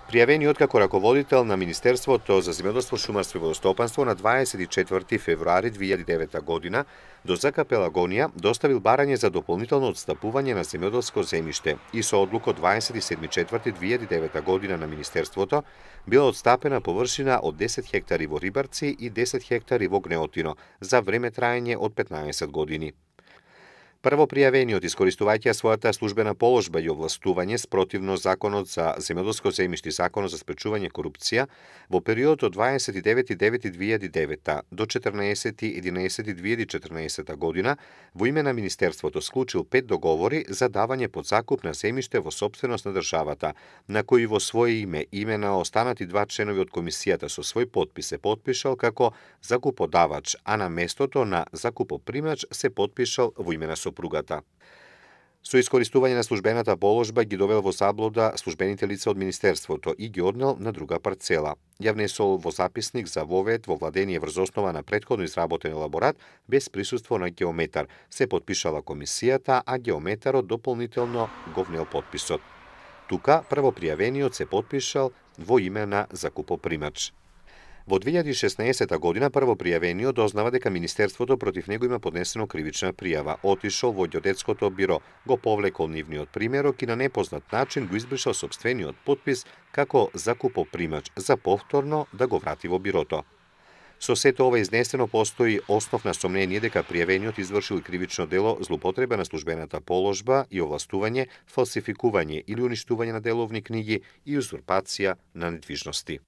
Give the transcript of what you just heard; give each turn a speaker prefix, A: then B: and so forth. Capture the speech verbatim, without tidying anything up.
A: Пријавениот како раководител на Министерството за земјоделство, шумарство и водостопанство на дваесет и четврти февруари две илјади и девета година до ЗК Пелагонија доставил барање за дополнително отстапување на земјоделско земјиште и со одлука од дваесет и седми четврти две илјади и девета година на Министерството била отстапена површина од десет хектари во Рибарци и десет хектари во Гнеотино за време траење од петнаесет години. Првопријавениот, искористувајќи својата службена положба и овластување спротивно законот за земјоделско земјиште и законот за спречување корупција, во периодот од дваесет и девети девети две илјади и девета до четрнаесети единаесети две илјади и четрнаесета година во име на Министерството склучил пет договори за давање под закуп на земјиште во сопственост на државата, на кои во своје име и име на останати два членови од комисијата со свој подпис се подпишал како закуподавач, а на местото на закупопримач се подпишал во име на сопругата. Со искористување на службената положба ги довел во заблуда службените лица од Министерството и ги однел на друга парцела. Ја внесол во записник за вовед во владение врз основа на претходно изработен елаборат без присуство на геометар. Се подпишала комисијата, а геометарот дополнително го внел подписот. Тука првопријавениот се подпишал во име на закупопримач. Во две илјади и шеснаесета година првопријавениот дознава дека Министерството против него има поднесено кривична пријава. Отишол во ѓеодетското биро, го повлекол нивниот примерок и на непознат начин го избришал сопствениот подпис како закупопримач за повторно да го врати во бирото. Со сето ова изнесено постои основ на сомнение дека пријавениот извршил кривично дело злоупотреба на службената положба и овластување, фалсификување или уништување на деловни книги и узурпација на недвижности.